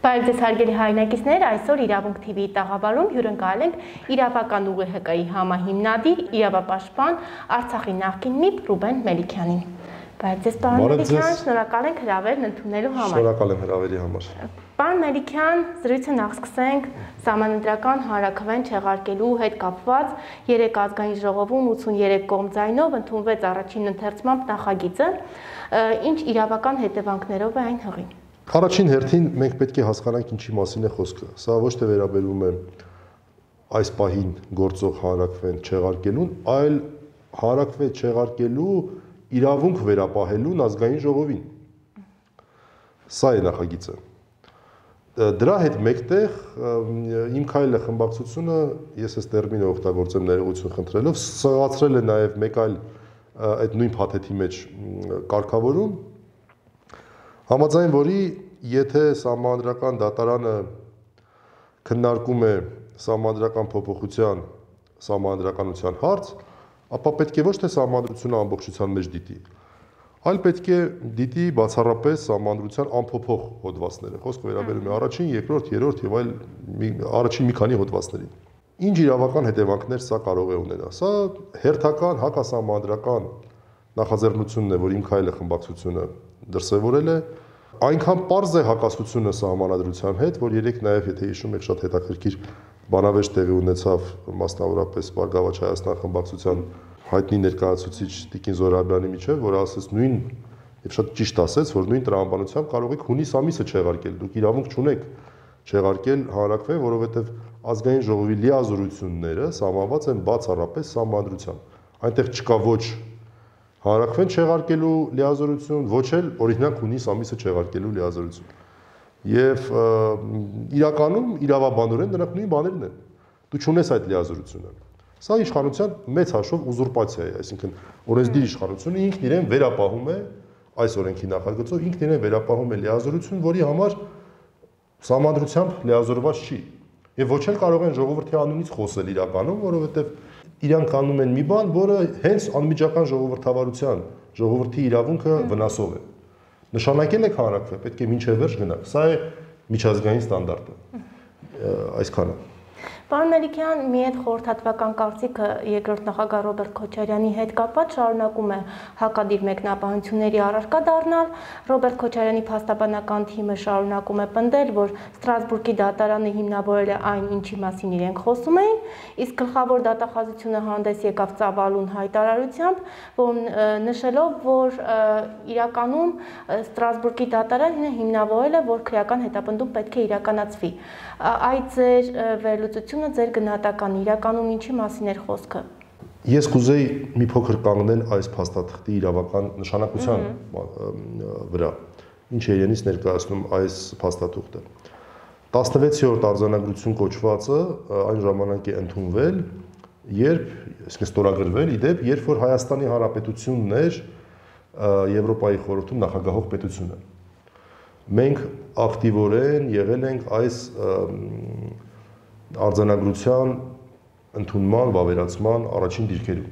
Բարև ձեզ հարգելի հայրենակիցներ, այսօր Իրավունք TV-ի տաղավարում հյուրընկալել ենք իրավական ուղի ՀԿ-ի համահիմնադիր, իրավապաշտպան, Արցախի նախկին ՄԻՊ Ռուբեն Մելիքյանին։ Բարև ձեզ, պարոն Մելիքյան, շնորհակալ ենք հրավերն ընդունելու համար։ Շնորհակալ եմ հրավերի համար։ Պարոն Մելիքյան, զրույցը նախ սկսենք Սահմանադրական հանրաքվեն չեղարկելու հետ կապված 3 ազգային ժողովում 83 կողմ ձայնով ընդունվեց առաջին ընթերցմամբ նախագիծը, ինչ իրավական հետևանքներով է այն հղի։ Առաջին հերթին մենք պետք է հասկանանք ինչի մասին է խոսքը։ Սա ոչ թե վերաբերում է այս պահին գործող հանրաքվեն չեղարկելուն, այլ հանրաքվեն չեղարկելու իրավունք վերապահելուն ազգային ժողովին։ Սա է նախագիծը։ Դրա հետ մեկտեղ իմ քայլը խմբակցությունը, ես այս տերմինը օգտագործեմ ներողություն խնդրելով, սղացրել է նաև մեկ այլ այդ նույն փաթեթի մեջ կարգավորում, համաձայն որի եթե Սահմանադրական դատարանը քննարկում է սահմանադրական փոփոխության սահմանադրականության հարց, ապա պետք է ոչ թե սահմանադրությունը ամբողջության մեջ դիտի, այլ պետք է դիտի բացառապես սահմանադրության անփոփոխ հոդվածները։ Խոսքը վերաբերում է առաջին, երկրորդ, երրորդ եւ այլ առաջին մի քանի հոդվածներին։ Ինչ իրավական հետևանքներ սա կարող է ունենալ։ Սա հերթական հակասահմանադրական նախաձեռնությունն է, որ իմ քայլը խմբակցությունը դրսևորել է, այնքան պարզ է հակասությունը սահմանադրության հետ, որ երեք նաև եթե հիշում եք շատ հետաքրքիր բանավեճ տեղի ունեցավ մասնավորապես Բարգավաճ Հայաստան խմբակցության հայտնի ներկայացուցիչ Տիկին Զոհրաբյանի միջև, որ ասաց նույն եւ շատ ճիշտ ասաց, որ նույն տրամաբանությամբ կարող եք հունիս ամիսը չեղարկել, դուք իրավունք չունեք չեղարկել հանրաքվեն, որովհետեւ ազգային ժողովի լիազորությունները սահմանված են բացառապես սահմանադրությամբ։ Այնտեղ չկա ոչ հանրաքվեն չեղարկելու լիազորություն, ոչ էլ օրինակ հունիս ամիսը չեղարկելու լիազորություն։ Եվ իրականում իրավաբանորեն դրանք նույն բաներն են։ Դու չունես այդ լիազորությունը։ Սա իշխանության մեծ հաշվով ուզուրպացիա է, այսինքն օրենսդիր իշխանությունը ինքն իրեն վերապահում է այս օրենքի նախագծով, ինքն իրեն վերապահում է լիազորություն, որի համար սահմանադրությամբ լիազորված չի։ Եվ ոչ էլ կարող են ժողովրդի անունից խոսել իրականում, որովհետև իրանք անում են մի բան, որը հենց անմիջական ժողովրդավարության, ժողովրդի իրավունքը վնասող է։ Նշանակել եք հանրաքվեն, պետք է մինչև վերջ գնաք։ Սա է միջազգային ստանդարտը։ Այսքանը։ Պարոն Մելիքյան, մի այդ խորհրդատվական կարծիքը երկրորդ նախագահ Ռոբերտ Քոչարյանի հետ կապված շարունակում է հակադիր մեկնաբանությունների առարկա դառնալ։ Ռոբերտ Քոչարյանի փաստաբանական թիմը շարունակում է պնդել, որ Ստրասբուրգի դատարանը հիմնավորել է այն, ինչի մասին իրենք խոսում էին, իսկ գլխավոր դատախազությունը հանդես եկավ ծավալուն հայտարարությամբ, որ նշելով, որ իրականում Ստրասբուրգի դատարանը հիմնավորել է, որ քրեական հետապնդում պետք է իրականացվի։ Այդ ձեր վերլուծությունը ձեր գնահատական իրականում ինչի մասին էր խոսքը։ Ես կուզեի մի փոքր կանգնել այս փաստաթղթի իրավական նշանակության վրա, ինչ է իրենից ներկայացնում այս փաստաթուղթը։ 16-րդ արձանագրություն կոչվածը այն ժամանակ է ընդունվել, երբ ստորագրվել, իդեպ, երբ որ Հայաստանի Հանրապետությունն էր Եվրոպայի խորհրդում նախագահող պետությունը։ Մենք ակտիվորեն եղել ենք այս արձանագրության ընդունման, վավերացման առաջին դիրքերում։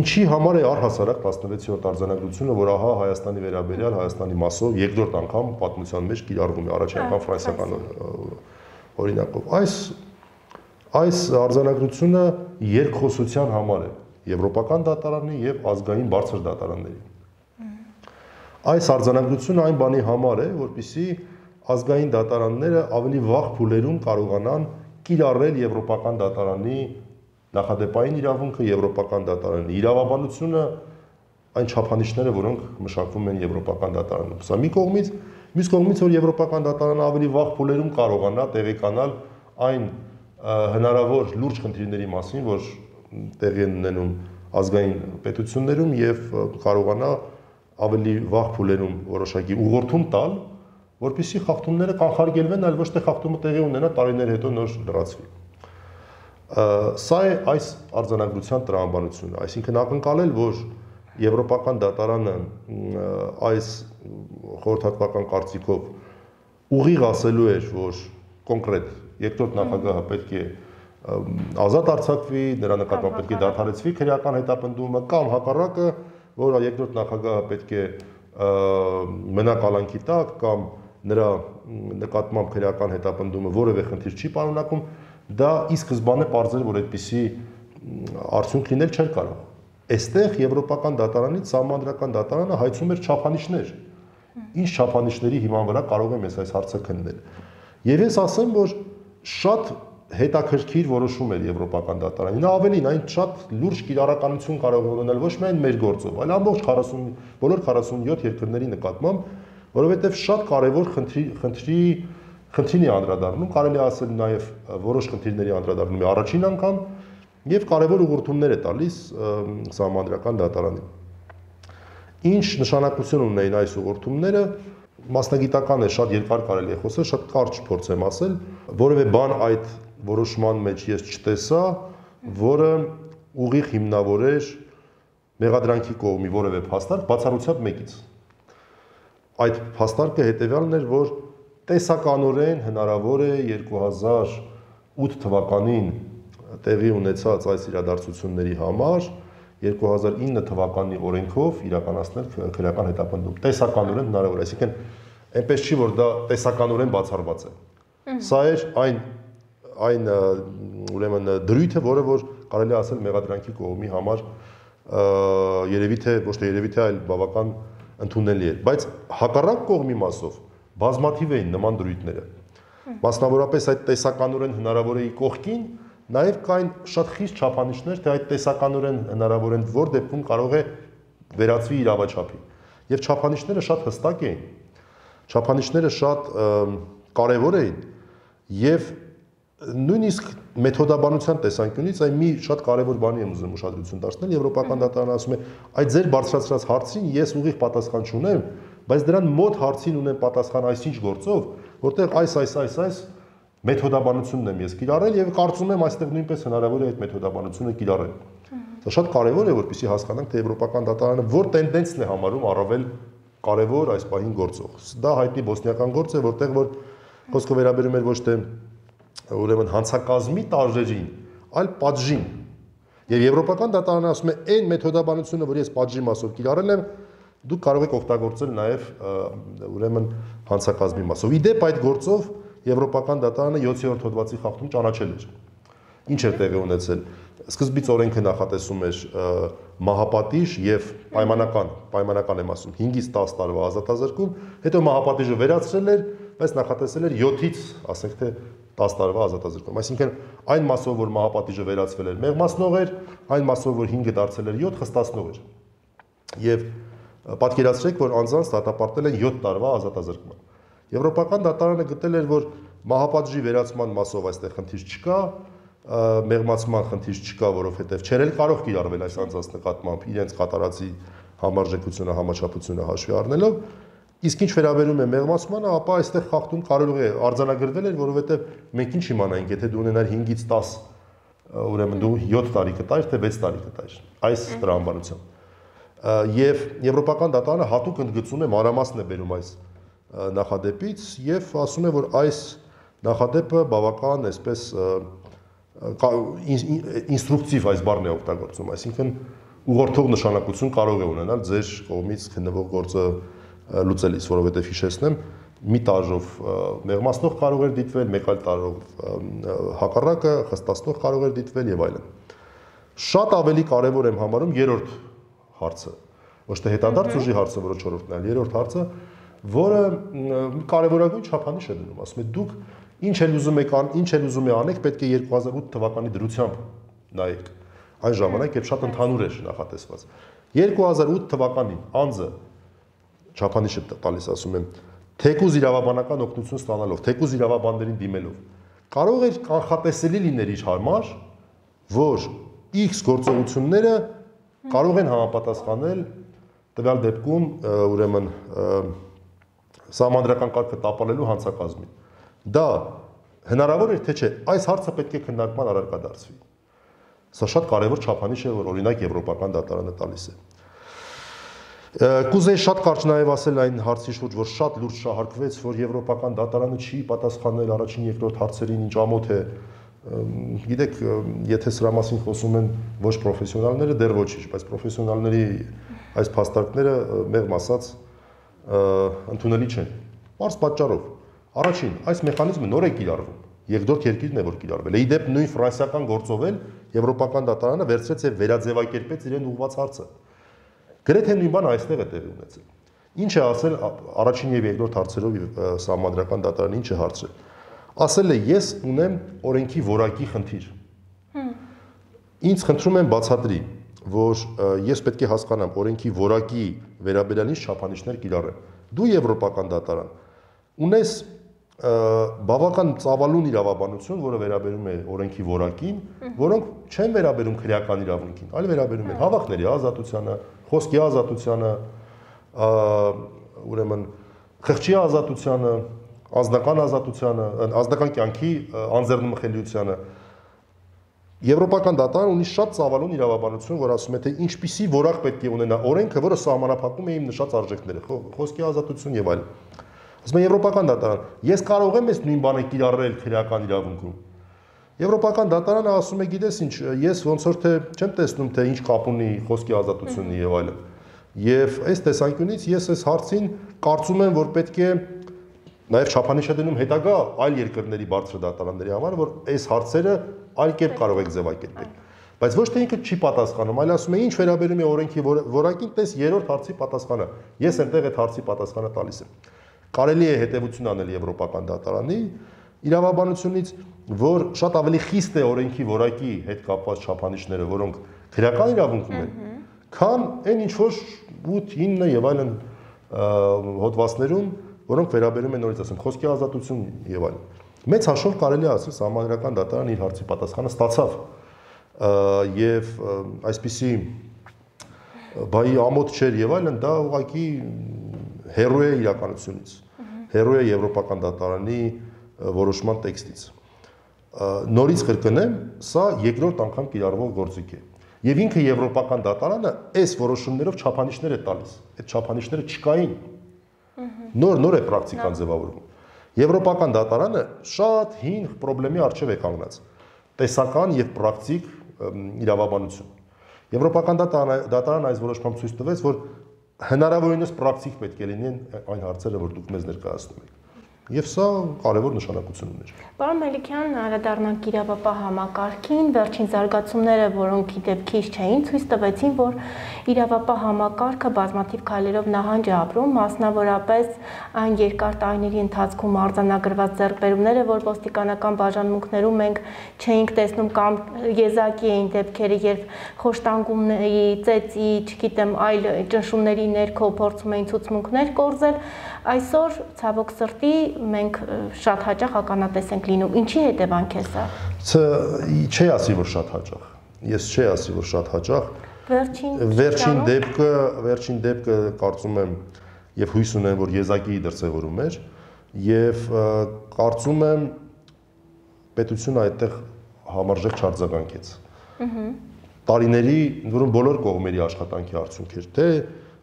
Ինչի համար է առհասարակ 16-րդ արձանագրությունը, որ ահա Հայաստանի վերաբերյալ Հայաստանի մասով երկրորդ անգամ պատմության մեջ կիրառվում է, առաջին անգամ ֆրանսիական օրինակով։ Այս արձանագրությունը երկխոսության համար է եվրոպական դատարանի եւ ազգային բարձր դատարանների։ Այս արձանագրությունը այն բանի համար է, որպեսզի ազգային դատարանները ավելի վաղ փուլերում կարողանան կիրառել եվրոպական դատարանի նախադեպային իրավունքը, եվրոպական դատարանի իրավաբանությունը, այն չափանիշները, որոնք մշակվում են եվրոպական դատարանում։ Սա մի կողմից, մյուս կողմից, որ եվրոպական դատարանը ավելի վաղ փուլերում կարողանա տեղեկանալ այն հնարավոր լուրջ խնդիրների մասին, որ տեղի են ունենում ազգային պետություններում եւ կարողանա ավելի վաղ փուլերում որոշակի ուղղորդում տալ, որպեսզի խախտումները կանխարգելվեն, այլ ոչ թե խախտումը տեղի ունենա տարիներ հետո նոր լրացվի։ Սա է այս արձանագրության տրամաբանությունը, այսինքն ակնկալել, որ եվրոպական դատարանը այս խորհրդատվական կարծիքով ուղիղ ասելու էր, որ կոնկրետ երկրորդ նախագահը պետք է ազատ արձակվի, նրա նկատմամբ պետք է դադարեցվի քրեական հետապնդումը, կամ հակառակը, որ երկրորդ նախագահը պետք է մնա կալանքի տակ կամ նրա նկատմամբ քրեական հետապնդումը որևէ խնդիր չի պարունակում, դա ի սկզբանե պարզել, որ այդպիսի արդյունք լինել չէր կարող։ Այստեղ Եվրոպական դատարանից Սահմանադրական դատարանը հայցում էր չափանիշներ։ Ինչ չափանիշների հիման վրա կարող եմ այս հարցը քննել։ Եվ ես ասեմ, որ շատ հետաքրքիր որոշում էր Եվրոպական դատարանի։ Նա ավելին այն շատ լուրջ կիրառականություն կարող է ունենալ ոչ միայն մեր գործով, այլ ամբողջ 40 բոլոր 47 երկրների նկատմամբ, որովհետև շատ կարևոր խնդրին է անդրադառնում, կարելի է ասել նաև որոշ խնդիրների անդրադառնում է առաջին անգամ եւ կարևոր ուղղություններ է տալիս Սահմանադրական դատարանին։ Ինչ նշանակություն ունեն այս ուղղությունները, մասնագիտական է, շատ երկար կարելի է խոսել, շատ կարճ փորձեմ ասել, որևէ բան այդ որոշման մեջ ես չտեսա, որը ուղիղ հիմնավորեր մեղադրանքի կողմի որևէ փաստարկ բացառությամբ մեկից։ Այդ փաստարկը հետևյալն էր, որ տեսականորեն հնարավոր է 2008 թվականին տեղի ունեցած այս իրադարձությունների համար 2009 թվականի օրենքով իրականացնել քրեական հետապնդում։ Տեսականորեն հնարավոր է, այսինքն այնպես չի, որ դա տեսականորեն բացառված է։ Սա էր այն ուրեմն դրույթը, որը որ կարելի է ասել մեղադրանքի կողմի համար երևի թե ոչ թե երևի թե այլ բավական ընդունելի էր, բայց հակառակ կողմի մասով բազմաթիվ էին նման դրույթները։ Մասնավորապես այդ տեսականորեն հնարավոր էի կողքին նաև կային շատ խիստ չափանիշներ, թե այդ տեսականորեն հնարավոր են որ դեպքում կարող է վերածվի իրավաչափի։ Եվ չափանիշները շատ հստակ էին։ Չափանիշները շատ կարևոր էին եւ նույնիսկ մեթոդաբանության տեսանկյունից այն մի շատ կարևոր բանի եմ ուզում ուշադրություն դարձնել, Եվրոպական դատարանը ասում է, այդ ձեր բարձրացրած հարցին ես ուղիղ պատասխան չունեմ, բայց դրան մոտ հարցին ունեմ պատասխան այսինչ գործով, որտեղ այս մեթոդաբանությունն եմ ես կիրառել եւ կարծում եմ այստեղ նույնպես հնարավոր է այդ մեթոդաբանությունը կիրառել։ Դա շատ կարևոր է, որպեսզի հասկանանք, թե Եվրոպական դատարանը որ տենդենսն է համարում առավել կարևոր այս պահին գործող։ Դա հայտնի բոսնիական գործ է, որտեղ որ խոսքը վերաբերում էր ոչ թե ուրեմն հանցակազմի տարրերին, այլ պատժին։ Եվ Եվրոպական դատարանը ասում է, այն մեթոդաբանությունը, որ ես պատժի մասով կիրառել եմ, դուք կարող եք օգտագործել նաև ուրեմն հանցակազմի մասով։ Իդեպ այդ գործով Եվրոպական դատարանը 7-րդ հոդվածի խախտում ճանաչել էր։ Ինչ էր տեղի ունեցել։ Սկզբից օրենքը նախատեսում էր մահապատիժ եւ պայմանական եմ ասում 5-ից 10 տարվա ազատազրկում, հետո մահապատիժը վերացրել էր, բայց նախատեսել էր 7-ից, ասենք թե 10 տարվա ազատազրկում։ Այսինքն այն մասով, որ մահապատիժը վերացվել էր, մեղմացնող էր, այն մասով, որ 5-ը դարձել էր 7, խստացնող էր։ Եվ պատկերացրեք, որ անձանց դատապարտել են 7 տարվա ազատազրկման։ Եվրոպական դատարանը գտել էր, որ մահապատժի վերացման մասով այստեղ խնդիր չկա, մեղմացման խնդիր չկա, որովհետև չէր էլ կարող կիրառվել այս անձանց նկատմամբ իրենց կատարածի համարժեքությունը, համաչափությունը հաշվի առնելով, իսկ ինչ վերաբերում է մեղմացմանը, ապա այստեղ խախտում կարող է արձանագրվել էր, որովհետև մենք ինչ իմանայինք, եթե դու ունենար 5-ից 10, ուրեմն դու 7 տարի կտայր, թե 6 տարի կտայր այս տրամաբանությամբ։ Եվ Եվրոպական դատարանը հատուկ ընդգծում է մանրամասն է բերում այս նախադեպից եւ ասում է, որ այս նախադեպը բավական այսպես ինստրուկտիվ այս բառն է օգտագործում, այսինքն ուղղորդող նշանակություն կարող է ունենալ ձեր կողմից քննվող գործը լուծելիս, որովհետեւ հիշեցնեմ, մի տարով մեղմացնող կարող էր դիտվել, մեկ այլ տարով հակառակը խստացնող կարող էր դիտվել եւ այլն։ Շատ ավելի կարեւոր եմ համարում երրորդ հարցը, ոչ թե հետադարձ ուժի հարցը, որը 4-րդն է, այլ երրորդ հարցը, որը կարևորագույն չափանիշ է դնում, ասում է դուք ինչ էլ ուզում եք անեք, պետք է 2008 թվականի դրությամբ նայեք։ Այն ժամանակ երբ շատ ընդհանուր էր նախատեսված։ 2008 թվականին անձը չափանիշը տալիս, ասում եմ, թեկուզ իրավաբանական օգնություն ստանալով, թեկուզ իրավաբաններին դիմելով, կարող էր կանխատեսելի լինել իր համար, որ X գործողությունները կարող են համապատասխանել տվյալ դեպքում ուրեմն սահմանադրական կարգը տապալելու հանցակազմին։ Դա հնարավոր էր թե չէ, այս հարցը պետք է քննարկման առարկա դարձվի։ Սա շատ կարևոր չափանիշ է, որ օրինակ Եվրոպական դատարանը տալիս է։ Կուզեի շատ կարճ նաև ասել այն հարցի շուրջ, որ շատ լուրջ շահարկվեց, որ Եվրոպական դատարանը չի պատասխանել առաջին երկրորդ հարցերին, ինչ ամոթ է։ Գիտեք, եթե սրա մասին խոսում են ոչ պրոֆեսիոնալները, դեռ ոչինչ, բայց պրոֆեսիոնալների այս փաստարկները մեղմ ասած ընդունելի չեն։ Պարզ պատճառով։ Առաջին, այս մեխանիզմը նոր է կիրառվում։ Երկրորդ երկիրն է, որ կիրառվել է։ Ի դեպ նույն ֆրանսիական գործով էլ Եվրոպական դատարանը վերցրեց եւ վերաձևակերպեց իրեն ուղղված հարցը։ Գրեթե նույն բանը այստեղ է տեղի ունեցել։ Ինչ է ասել առաջին եւ երկրորդ հարցերով Սահմանադրական դատարանը ինչ է հարցրել։ Ասել է ես ունեմ օրենքի որակի խնդիր։ Ինձ խնդրում եմ բացատրի, որ ես պետք է հասկանամ օրենքի որակի վերաբերյալ ինչ չափանիշներ կիրառեմ։ Դու Եվրոպական դատարան ունես բավական ծավալուն իրավաբանություն, որը վերաբերում է օրենքի որակին, որոնք չեն վերաբերում քրեական իրավունքին, այլ վերաբերում են հավաքների ազատությանը, խոսքի ազատությանը, ուրեմն խղճի ազատությանը, անձնական ազատությանը, անձնական կյանքի անձեռնմխելիությանը։ Եվրոպական դատարանը ունի շատ ծավալուն իրավաբանություն, որ ասում է, թե ինչպիսի որակ պետք է ունենա օրենքը, որը սահմանափակում է իմ նշած արժեքները, խոսքի ազատություն եւ այլն։ Ասում է Եվրոպական դատարան, ես կարող եմ այս նույն բանը կիրառել քրեական իրավունքում։ Եվրոպական դատարանը ասում է, գիտես ինչ, ես ոնց որ թե չեմ տեսնում, թե ինչ կապ ունի խոսքի ազատությունն եւ այլն։ Եվ այս տեսանկյունից ես այս հարցին կարծում եմ, որ պետք է նաեւ չափանիշ է դնում հետագա այլ երկրների բարձր դատարանների համար, որ այս հարցերը այլ կերպ կարող եք ձևակերպել։ Բայց ոչ թե ինքը չի պատասխանում, այլ ասում է, ինչ վերաբերում է օրենքի որակին, տես երրորդ հարցի պատասխանը։ Ես այնտեղ այդ հարցի պատասխանը տալիս եմ։ Կարելի է հետևություն անել Եվրոպական դատարանի իրավաբանությունից, որ շատ ավելի խիստ է օրենքի որակի հետ կապված չափանիշները, որոնք քրեական իրավունքում են, քան այն ինչ որ 8, 9 եւ այլն հոդվածներում, որոնք վերաբերում են նորից ասեմ խոսքի ազատություն եւ այլն։ Մեծ հաշվով կարելի է ասել Սահմանադրական դատարանը իր հարցի պատասխանը ստացավ եւ այսպիսի բայի ամոթ չէր եւ այլն, դա ուղղակի հերոյ է իրականությունից, հերոյ է Եվրոպական դատարանի որոշման տեքստից։ Նորից կրկնեմ, սա երկրորդ անգամ կիրառվող գործիք է։ Եվ ինքը Եվրոպական դատարանը այս որոշումներով չափանիշներ է տալիս։ Այդ չափանիշները չկային։ Նոր է պրակտիկան ձևավորվում։ Եվրոպական դատարանը շատ հին խնդրի առջև է կանգնած։ Տեսական եւ պրակտիկ իրավաբանություն։ Եվրոպական դատարանը այս որոշմամբ ցույց տվեց, որ հնարավորինս պրակտիկ պետք է լինեն այն հարցերը, որ դուք մեզ ներկայացնում եք։ Եվ սա կարևոր նշանակություն ուներ։ Պարոն Մելիքյան, անդրադառնանք իրավապահ համակարգին, վերջին զարգացումները, որոնք ի դեպ քիչ չէին, ցույց տվեցին, որ իրավապահ համակարգը բազմաթիվ քայլերով նահանջ է ապրում, մասնավորապես այն երկար տարիների ընթացքում արձանագրված ձեռքբերումները, որ ոստիկանական բաժանմունքներում մենք չէինք տեսնում կամ եզակի էին դեպքերը, երբ խոշտանգումների, ծեծի, չգիտեմ, այլ ճնշումների ներքո փորձում էին ցուցմունքներ կորզել, այսօր ցավոք սրտի մենք շատ հաճախ ականատես ենք լինում։ Ինչի հետևանք է սա։ Չի ասի, որ շատ հաճախ։ Ես չի ասի, որ շատ հաճախ։ Վերջին դեպքը կարծում եմ եւ հույս ունեմ, որ եզակի դրսևորում էր եւ կարծում եմ պետությունը այդտեղ համարժեք չարձագանքեց։ Տարիների, որոնք բոլոր կողմերի աշխատանքի արդյունք էր, թե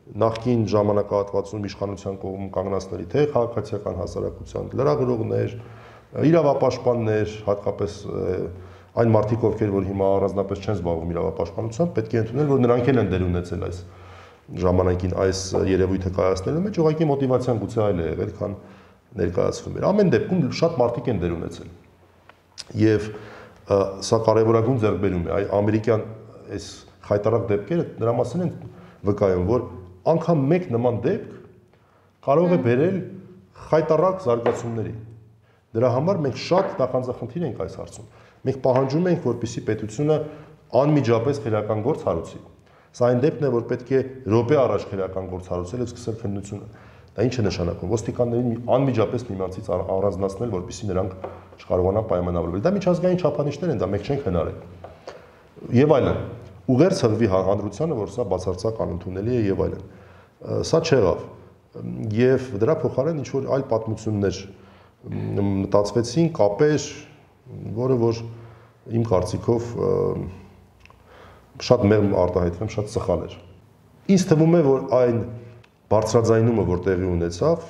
նախկին ժամանակահատվածում իշխանության կողմում կանգնածների, թե քաղաքացիական հասարակության լրագրողներ, իրավապաշտպաններ, հատկապես այն մարդիկ, ովքեր որ հիմա առանձնապես չեն զբաղվում իրավապաշտպանությամբ, պետք է ընդունել, որ նրանք էլ են դեր ունեցել այս ժամանակին այս երևույթը կայացնելու մեջ, ուղղակի մոտիվացիան գուցե այլ է եղել, քան ներկայացվում էր։ Ամեն դեպքում շատ մարդիկ են դեր ունեցել։ Եվ սա կարևորագույն ձեռքբերում է։ Ամերիկյան այս խայտարակ դեպքերը դրա մասին են վկայում, որ անգամ մեկ նման դեպք կարող է բերել խայտարակ զարգացումների։ Դրա համար մենք շատ նախանձախնդիր ենք այս հարցում։ Մենք պահանջում ենք, որպեսզի պետությունը անմիջապես քրեական գործ հարուցի։ Սա այն դեպքն է, որ պետք է րոպե առաջ քրեական գործ հարուցել եւ սկսել քննությունը։ Դա ինչ է նշանակում։ Ոստիկաններին անմիջապես միմյանցից առանձնացնել, որպեսզի նրանք չկարողանան պայմանավորվել։ Դա միջազգային չափանիշներ են, դա մենք չենք հնարել։ Եվ այլն։ Ուղերձ հղվի հանրությանը, որ սա բացարձակ անընդունելի է եւ այլն։ Սա չեղավ։ Եվ դրա փոխարեն ինչ որ այլ պատմություններ մտածվեցին, կապեր, որը որ իմ կարծիքով շատ մեղմ արտահայտվեմ, շատ սխալ էր։ Ինձ թվում է, որ այն բարձրաձայնումը, որ տեղի ունեցավ,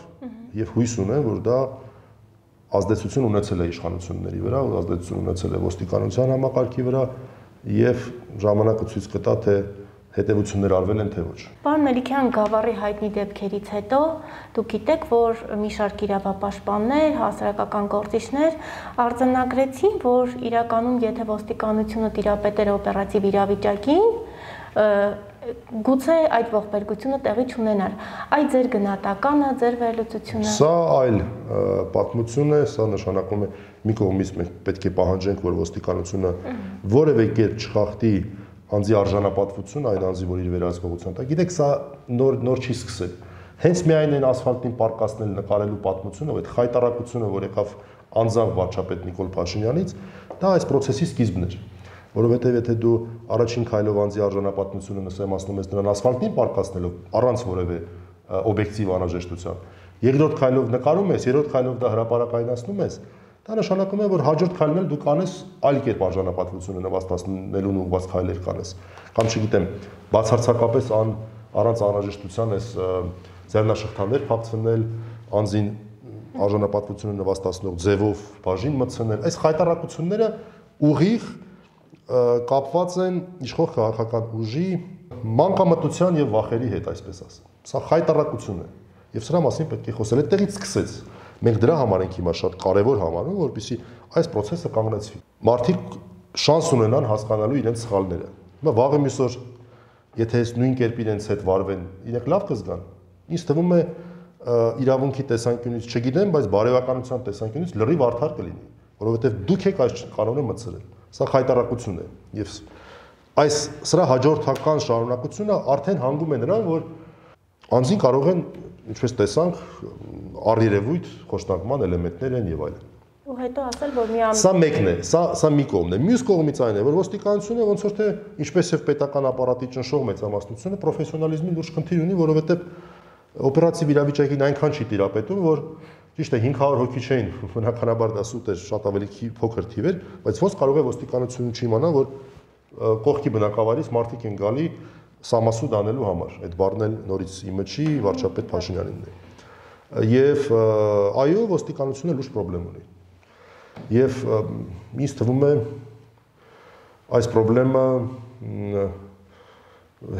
եւ հույս ունեմ, որ դա ազդեցություն ունեցել է իշխանությունների վրա, ազդեցություն ունեցել է ոստիկանության համակարգի վրա, եւ ժամանակը ցույց կտա, թե հետևություններ արվել են, թե ոչ։ Պարոն Մելիքյան, Գավառի հայտնի դեպքերից հետո դուք գիտեք, որ մի շարք իրավապաշտպաններ, հասարակական գործիչներ արձանագրեցին, որ իրականում եթե ոստիկանությունը տիրապետեր օպերատիվ իրավիճակին, գուցե այդ ողբերգությունը տեղի չունենար։ Այդ ձեր գնահատականը, ձեր վերլուծությունը։ Սա այլ պատմություն է, սա նշանակում է մի կողմից մենք պետք է պահանջենք, որ ոստիկանությունը որևէ կերպ չխախտի անձի արժանապատվություն, այն անձի, որ իր վերահսկողության տակ։ Գիտեք, սա նոր չի սկսել։ Հենց միայն այն ասֆալտին պարկասնել նկարելու պատմությունը, այդ խայտարակությունը, որ եկավ անձամբ վարչապետ Նիկոլ Փաշինյանից, դա այս process-ի սկիզբն էր։ Որովհետև եթե դու առաջին քայլով անձի արժանապատվությունը նսեմացնում ես նրան ասֆալտին պարկասնելով առանց որևէ օբյեկտիվ անհրաժեշտության, երկրորդ քայլով նկարում ես, երրորդ քայլով դա հրապարակայնացնում ես, դա նշանակում է, որ հաջորդ քայլն էլ դու կանես այլ կերպ արժանապատվությունը նվաստացնելուն ուղղված քայլեր կանես։ Կամ չգիտեմ, բացարձակապես առանց անհրաժեշտության ես ձեռնաշղթաներ փակցնել, անձին արժանապատվությունը նվաստացնող ձևով բաժին մտցնել։ Այս խայտարակությունները ուղիղ կապված են իշխող քաղաքական ուժի մանկամտության եւ վախերի հետ, այսպես ասեմ։ Սա խայտարակություն է եւ սրա մասին պետք է խոսել։ Այդտեղից սկսեց։ Մենք դրա համար ենք հիմա շատ կարևոր համարում, որպեսզի այս process-ը կանգնեցվի։ Մարդիկ շանս ունենան հասկանալու իրենց սխալները։ Հիմա վաղը մյուս օր, եթե այս նույն կերպ իրենց հետ վարվեն, իրենք լավ կզգան։ Ինձ թվում է իրավունքի տեսանկյունից չգիտեմ, բայց բարևականության տեսանկյունից լրիվ արդար կլինի, որովհետև դուք եք այս կանոնը մտցրել։ Սա խայտարակություն է եւ այս սրա հաջորդական շարունակությունը արդեն հանգում է նրան, որ անձին կարող են, ինչպես տեսանք, առերևույթ խոշտանգման էլեմենտներ են եւ այլն։ Ու հետո ասել, որ մի Սա մեկն է, սա մի կողմն է։ Մյուս կողմից այն է, որ ոստիկանությունը ոնց որ թե ինչպես եւ պետական ապարատի ճնշող մեծամասնությունը պրոֆեսիոնալիզմի լուրջ խնդիր ունի, որովհետեւ օպերատիվ իրավիճակին այնքան չի տիրապետում, որ ճիշտ է 500 հոգի չէին, բնականաբար դա սուտ էր, շատ ավելի փոքր թիվ էր, բայց ոնց կարող է ոստիկանությունը չիմանա, որ կողքի բնակավարից մարդիկ են գալի սամասուդ անելու համար։ Այդ բառն էլ նորից իմը չի, վարչապետ Փաշինյանինն է։ Եվ այո, ոստիկանությունը լուրջ խնդրեմ ունի։ Եվ ինձ թվում է այս խնդրեմը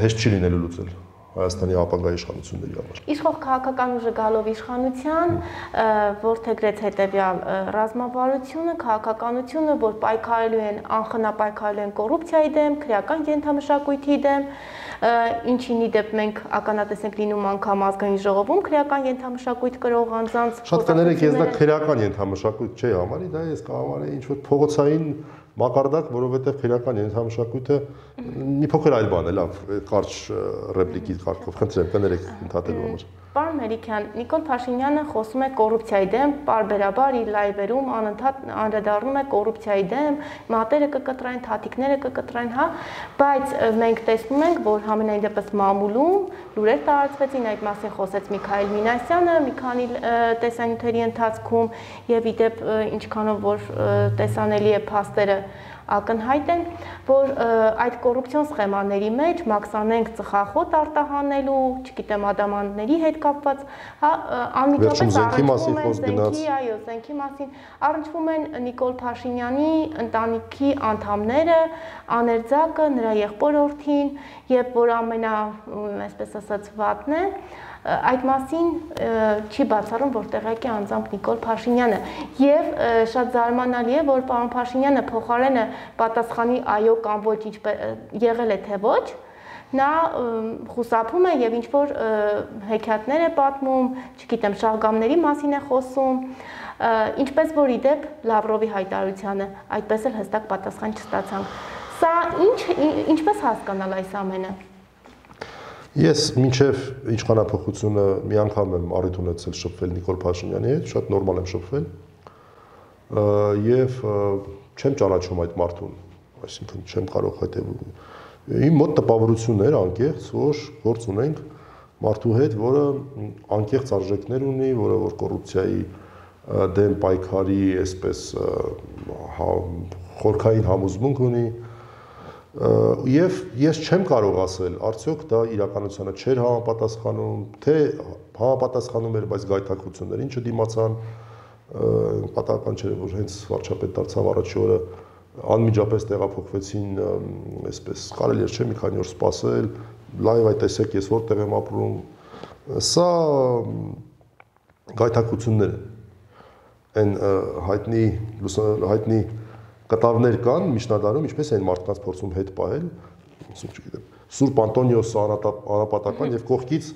հեշտ չի լինելու լուծել Հայաստանի ապագա իշխանությունների համար։ Իշխող քաղաքական ուժը գալով իշխանության, որդեգրեց հետևյալ ռազմավարությունը, քաղաքականությունը, որ պայքարելու են, անխնա պայքարելու են կոռուպցիայի դեմ, քրեական ենթամշակույթի դեմ, ինչին ի դեպ մենք ականատես ենք լինում անգամ ազգային ժողովում քրեական ենթամշակույթ կրող անձանց։ Շատ կներեք, ես դա քրեական ենթամշակույթ չի համարի, դա ես կհամարեի ինչ որ փողոցային մակարդակ, որովհետև քրեական ենթամշակույթը մի փոքր այլ բան է, լավ, կարճ ռեպլիկի կարգով, խնդրեմ, կներեք ընդհատելու համար։ Պարոն Մելիքյան, Նիկոլ Փաշինյանը խոսում է կոռուպցիայի դեմ, պարբերաբար իր լայվերում անընդհատ անդրադառնում է կոռուպցիայի դեմ, մատերը կկտրային, թաթիկները կկտրային, հա, բայց մենք տեսնում ենք, որ համենայն դեպս մամուլում լուրեր տարածվեցին, այդ մասին խոսեց Միքայել Մինասյանը մի քանի տեսանյութերի ընթացքում եւ ի դեպ ինչքանով որ տեսանելի է փաստերը ակնհայտ են, որ այդ կոռուպցիոն սխեմաների մեջ մաքսանենք ծխախոտ արտահանելու, չգիտեմ, ադամանդների հետ կապված, հա, անմիջապես առնչվում են զենքի, այո, զենքի մասին, առնչվում են Նիկոլ Փաշինյանի ընտանիքի անդամները, աներձակը, նրա եղբորորդին, եւ որ այսպես ասած վատն է, այդ մասին չի բացառում, որ տեղյակ է անձամբ Նիկոլ Փաշինյանը եւ շատ զարմանալի է, որ պարոն Փաշինյանը փոխարենը պատասխանի այո կամ ոչ եղել է թե ոչ, նա խուսափում է եւ ինչ որ հեքիաթներ է պատմում, չգիտեմ, շահգամների մասին է խոսում, ինչպես որ ի դեպ Լավրովի հայտարարությանը այդպես էլ հստակ պատասխան չստացանք։ Սա ինչպես հասկանալ այս ամենը։ Ես մինչև իշխանապողությունը մի անգամ եմ առիթ ունեցել շփվել Նիկոլ Փաշինյանի հետ, շատ նորմալ եմ շփվել եւ չեմ ճանաչում այդ մարդուն, այսինքն չեմ կարող հետևում։ Իմ մոտ տպավորություն էր անկեղծ, որ գործ ունենք մարդու հետ, որը անկեղծ արժեքներ ունի, որը որ կոռուպցիայի դեմ պայքարի այսպես խորքային համոզմունք ունի Եվ ես չեմ կարող ասել, արդյոք դա իրականությանը չէր համապատասխանում, թե համապատասխանում էր, բայց գայթակղություններին չդիմացան, պատահական չէ, որ հենց վարչապետ դարձավ առաջի օրը անմիջապես տեղափոխվեցին, այսպես կարելի էր չէ մի քանի օր սպասել, լայվ այ տեսեք ես որտեղ եմ ապրում։ Սա գայթակղություններ են, հայտնի կտավներ կան միջնադարում, ինչպես են մարդկանց փորձում հետ պահել, չգիտեմ, Սուրբ Անտոնիոսը անապատական եւ կողքից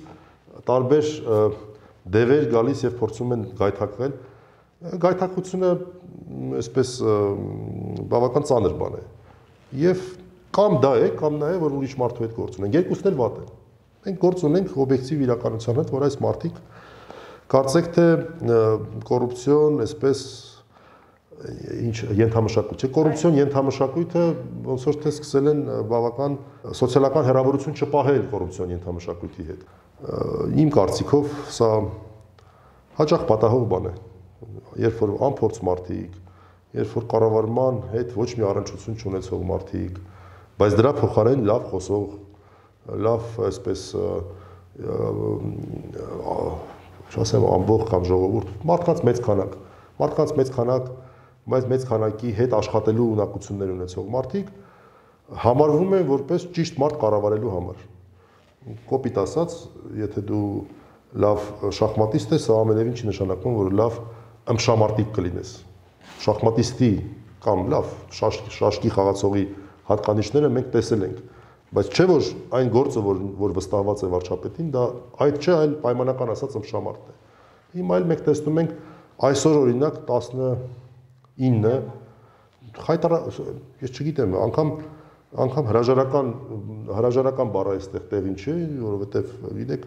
տարբեր դևեր գալիս եւ փորձում են գայթակղել։ Գայթակղությունը այսպես բավական ծանր բան է։ Եվ կամ դա է, կամ նա է, որ ուրիշ մարդու հետ գործ ունենք։ Երկուսն էլ վատ են։ Մենք գործ ունենք օբյեկտիվ իրականության հետ, որ այս մարդիկ կարծեք թե կոռուպցիոն, այսպես ինչ ենթամշակույթ չէ, կոռուպցիոն ենթամշակույթը ոնց որ թե սկսել են բավական սոցիալական հերավորություն չպահել կոռուպցիոն ենթամշակույթի հետ։ Իմ կարծիքով սա հաճախ պատահող բան է, երբ որ անփորձ մարդիկ, երբ որ կառավարման հետ ոչ մի առնչություն չունեցող մարդիկ, բայց դրա փոխարեն լավ խոսող, լավ այսպես չասեմ ամբողջ կամ ժողովուրդ, մարդկանց մեծ քանակ, բայց մեծ քանակի հետ աշխատելու ունակություններ ունեցող մարդիկ համարվում են որպես ճիշտ մարդ կառավարելու համար։ Կոպիտ ասած, եթե դու լավ շախմատիստ ես, սա ամենևին չի նշանակում, որ լավ ըմբշամարտիկ կլինես։ Շախմատիստի կամ լավ շաշկի խաղացողի հատկանիշները մենք տեսել ենք, բայց չէ որ այն գործը, որ վստահված է վարչապետին, դա այդ չէ, այլ պայմանական ասած ըմբշամարտն է։ Հիմա այլ մենք տեսնում ենք այսօր օրինակ 19 ես չգիտեմ, անգամ հրաժարական բառը այստեղ տեղին չէ, որովհետև գիտեք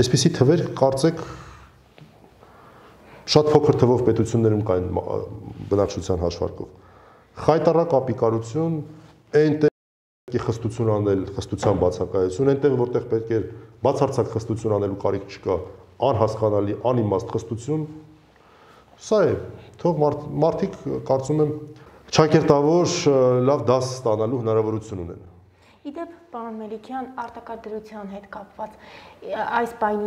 այսպիսի թվեր կարծեք շատ փոքր թվով պետություններում կային բնակչության հաշվարկով։ Խայտառակ ապիկարություն, այնտեղ պետք է խստություն անել, խստության բացակայություն, այնտեղ որտեղ պետք է բացարձակ խստություն անելու կարիք չկա, անհասկանալի, անիմաստ խստություն, սա է, թող մարդիկ կարծում եմ ճակերտավոր լավ դաս ստանալու հնարավորություն ունեն։ Իդեպ, պարոն Մելիքյան, արտակարգ դրության հետ կապված այս պայն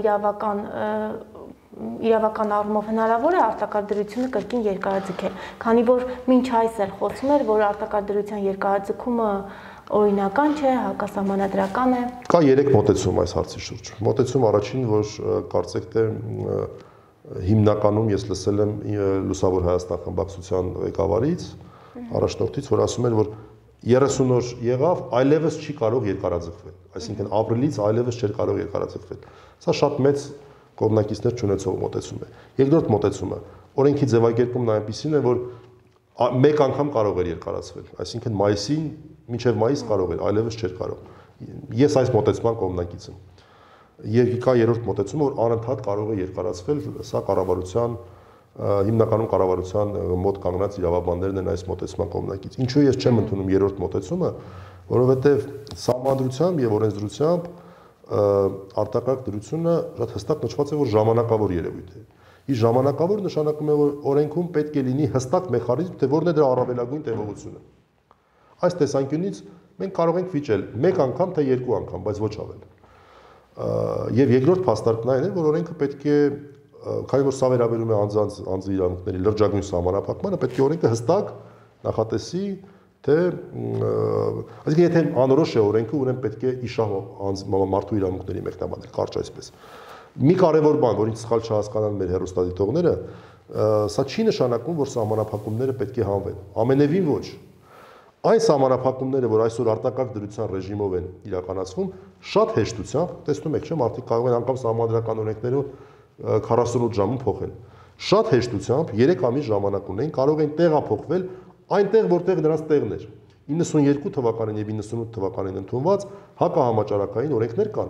իրավական առումով հնարավոր է արտակարգ դրությունը կրկին երկարաձգել, քանի որ մինչ այս էլ խոսում էր, որ արտակարգ դրության երկարաձգումը օրինական չէ, հակասահմանադրական է։ Կա 3 մոտեցում այս հարցի շուրջ։ Մոտեցում առաջին, որ կարծեք թե հիմնականում ես լսել եմ Լուսավոր Հայաստան խմբակցության ղեկավարից, առաջնորդից, որ ասում են, որ 30 օր եղավ, այլևս չի կարող երկարաձգվել, այսինքն ապրիլից այլևս չէր կարող երկարաձգվել։ Սա շատ մեծ կողմնակիցներ չունեցող մոտեցում է։ Երկրորդ մոտեցումը, օրենքի ձևակերպումն այնպիսին է, որ մեկ անգամ կարող էր երկարացվել, այսինքն մայիսին մինչև մայիս կարող էր, այլևս չէր կարող։ Ես այս մոտեցման կողմնակից եմ։ Եվ կա երրորդ մոտեցումը, որ անընդհատ կարող է երկարացվել, սա կառավարության հիմնականում կառավարության մոտ կանգնած իրավաբաններն են այս մոտեցման կողմնակից։ Ինչու ես չեմ ընդունում երրորդ մոտեցումը, որովհետև սահմանադրությամբ եւ օրենսդրությամբ արտակարգ դրությունը շատ հստակ նշված է, որ ժամանակավոր երևույթ է։ Իսկ ժամանակավոր նշանակում է, որ օրենքում պետք է լինի հստակ մեխանիզմ, թե որն է դրա առավելագույն տևողությունը։ Այս տեսանկյունից մենք կարող ենք վիճել մեկ անգամ թե երկու անգամ, բայց ոչ ավել։ Եվ երկրորդ փաստարկն այն է, որ օրենքը պետք է, քանի որ սա վերաբերում է անձի իրավունքների լրջագույն սահմանափակմանը, պետք է օրենքը հստակ նախատեսի, թե այսինքն եթե անորոշ է օրենքը, ուրեմն պետք է իշահ մարդու իրավունքների մեկնաբանել, կարճ այսպես։ Մի կարևոր բան, որին սխալ չհասկանան մեր հեռուստադիտողները, սա չի նշանակում, որ սահմանափակումները պետք է հանվեն։ Ամենևին ոչ։ Այն սահմանափակումները, որ այսօր արտակարգ դրության ռեժիմով են իրականացվում, շատ հեշտությամբ, տեսնում եք, չէ՞, մարդիկ կարող են անգամ սահմանադրական օրենքներով 48 ժամում փոխել։ Շատ հեշտությամբ 3 ամիս ժամանակ ունեն, կարող են տեղափոխվել այնտեղ, որտեղ նրանց տեղն էր։ 92 թվականին եւ 98 թվականին ընդունված հակահամաճարակային օրենքներ կան։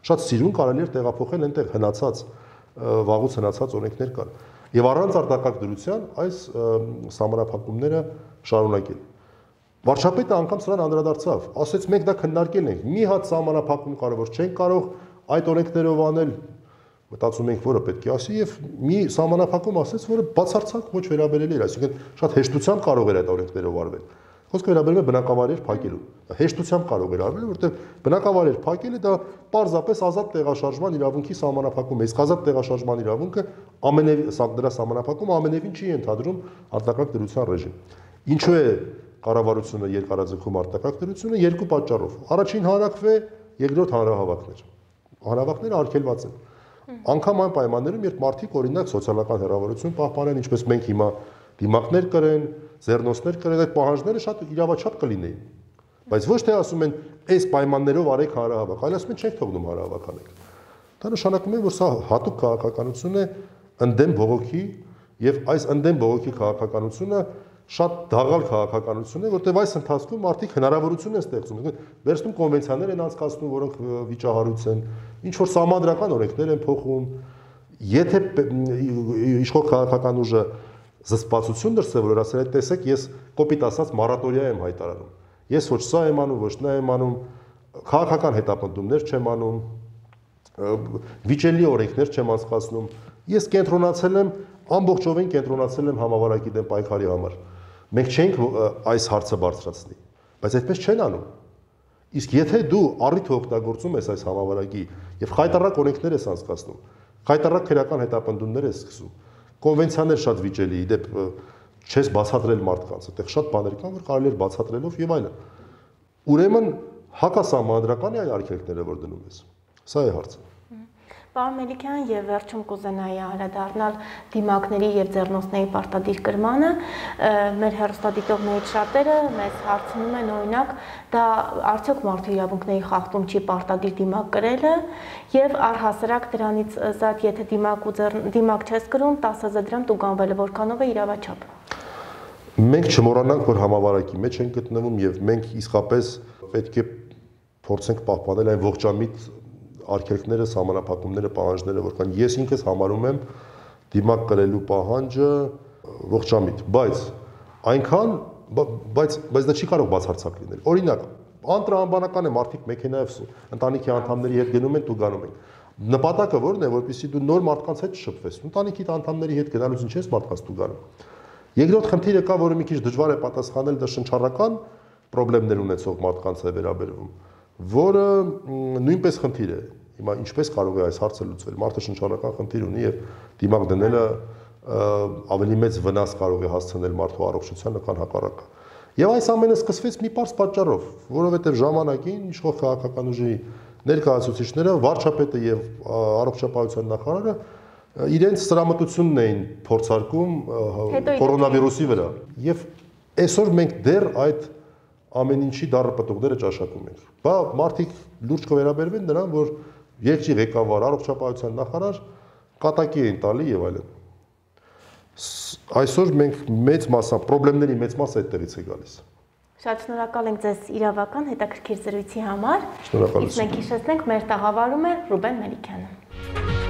Շատ սիրուն կարելի էր տեղափոխել այնտեղ հնացած, վաղուց հնացած օրենքներ կան։ Եվ առանց արտակարգ դրության այս սահմանափակումները շարունակել։ Վարչապետը անգամ սրան անդրադարձավ, ասեց մենք դա քննարկել ենք, մի հատ սահմանափակում կարևոր չենք կարող այդ օրենքներով անել, մտածում ենք, որը պետք է ասի եւ մի սահմանափակում ասեց, որը բացարձակ ոչ վերաբերելի էր, այսինքն շատ հեշտությամբ կարող էր այդ օրենքներով արվել։ Խոսքը վերաբերում է բնակավայրեր փակելուն։ Հեշտությամբ կարող էր արվել, որովհետև բնակավայրեր փակելը դա պարզապես ազատ տեղաշարժման իրավունքի սահմանափակում է։ Իսկ ազատ տեղաշարժման իրավունքը դրա սահմանափակումը ամենևին չի ընդհանրում արտակարգ դրության ռեժիմ։ Ինչու է կառավարությունը երկարաձգում արտակարգ դրությունը երկու պատճառով։ Առաջին հանրաքվե, երկրորդ հանրահավաքներ։ Հանրահավաքները արգելված են։ Անկամ այն պայմաններում, երբ մարդիկ օրինակ սոցիալական հեռավորություն պահպանեն, ինչպես մենք հիմա դիմակներ կրեն, ձեռնոցներ կրեն, այդ պահանջները շատ իրավաչափ կլինեին։ Բայց ոչ թե ասում են, այս պայմաններով արեք հանրահավաք, այլ ասում են չենք թողնում հանրահավաք անեք։ Դա նշանակում է, որ սա հատուկ քաղաքականություն է ընդդեմ բողոքի, եւ այս ընդդեմ բողոքի քաղաքականությունը շատ դաղալ քաղաքականություն է, որտեղ այս ընթացքում մարդիկ հնարավորություն են ստեղծում, վերցնում կոնվենցիաներ են անցկացնում, որոնք վիճահարույց են, ինչ որ սահմանադրական օրենքներ են փոխում, եթե իշխող քաղաքական ուժը զսպվածություն դրսևորել, որ ասել է, տեսեք, ես կոպիտ ասած մորատորիա եմ հայտարարում։ Ես ոչ սա եմ անում, ոչ նա եմ անում, քաղաքական հետապնդումներ չեմ անում, վիճելի օրենքներ չեմ անցկացնում։ Ես կենտրոնացել եմ, ամբողջովին կենտրոնացել եմ համավարակի դեմ պայքարի համար։ Մենք չենք այս հարցը բարձրացնի, բայց այդպես չեն անում։ Իսկ եթե դու առիթը օգտագործում ես այս համավարակի եւ խայտառակ օրենքներ ես անցկացնում, խայտառակ քրեական հետապնդումներ ես սկսում, կոնվենցիաներ շատ վիճելի, իդեպ չես բացատրել մարդկանց, այդտեղ շատ բաներ կան, որ կարելի է բացատրելով եւ այլն։ Ուրեմն հակասահմանադրական է այն արգելքները, որ դնում ես։ Սա է հարցը։ Պարոն Մելիքյան, եւ վերջում կուզենայի անդրադառնալ դիմակների եւ ձեռնոցների պարտադիր կրմանը, մեր հեռուստադիտողներից շատերը մեզ հարցնում են, օրինակ, դա արդյոք մարդու իրավունքների խախտում չի պարտադիր դիմակ կրելը, եւ առհասարակ դրանից զատ, եթե դիմակ չես կրում, 10,000 դրամ տուգանվելը, որքանով է իրավաչափ։ Մենք չմոռանանք, որ համավարակի մեջ ենք գտնվում եւ մենք իսկապես պետք է փորձենք պահպանել այն ողջամիտ արգելքները, սահմանափակումները, պահանջները, որքան ես ինքս համարում եմ դիմակ կրելու պահանջը ողջամիտ, բայց այնքան, բայց դա չի կարող բացարձակ լինել։ Օրինակ, անտրամաբանական է մարդիկ մեքենայով ընտանիքի անդամների հետ գնում են ու գանում են։ Նպատակը ո՞րն է, որպեսզի դու նոր մարդկանց հետ շփվես։ Ընտանիքի անդամների հետ գնալուց ինչ ես մարդկանց ու գանում։ Երկրորդ խնդիրը կա, որը մի քիչ դժվար է պատասխանել, դա շնչառական խնդիրներ ունեցող մարդկանց է վերաբերվում, որը նույնպես խնդիր է։ Հիմա ինչպես կարող է այս հարցը լուծվել։ Մարդը շնչառական խնդիր ունի եւ դիմակ դնելը ավելի մեծ վնաս կարող է հասցնել մարդու առողջությանը, քան հակառակը։ Եվ այս ամենը սկսվեց մի պարզ պատճառով, որովհետեւ ժամանակին իշխող քաղաքական ուժի ներկայացուցիչները, վարչապետը եւ առողջապահության նախարարը իրենց սրամտությունն էին փորձարկում կորոնավիրուսի վրա։ Եվ այսօր մենք դեռ այդ ամեն ինչի դառը պտուղները ճաշակում ենք։ Բա մարդիկ լուրջ կվերաբերվեն նրան, որ երկրի ղեկավար, առողջապահության նախարար կատակի են տալի եւ այլն։ Այսօր մենք մեծ մասամբ խնդիրների մեծ մասը այդտեղից է գալիս։ Շատ շնորհակալ ենք ձեզ իրավական հետաքրքիր զրույցի համար։ Շնորհակալություն։ Մենք հիշեցնենք, մեր տաղավարում է Ռուբեն Մելիքյանը։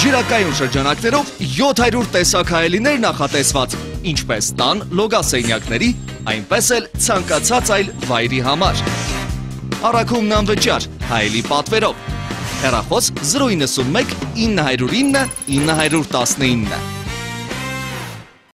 Ջրակայուն շրջանակներով 700 տեսակ հայելիներ նախատեսված, ինչպես տան լոգասենյակների, այնպես էլ ցանկացած այլ վայրի համար։ Առաքումն անվճար, հայելի պատվերով։ Հեռախոս 091 909 919։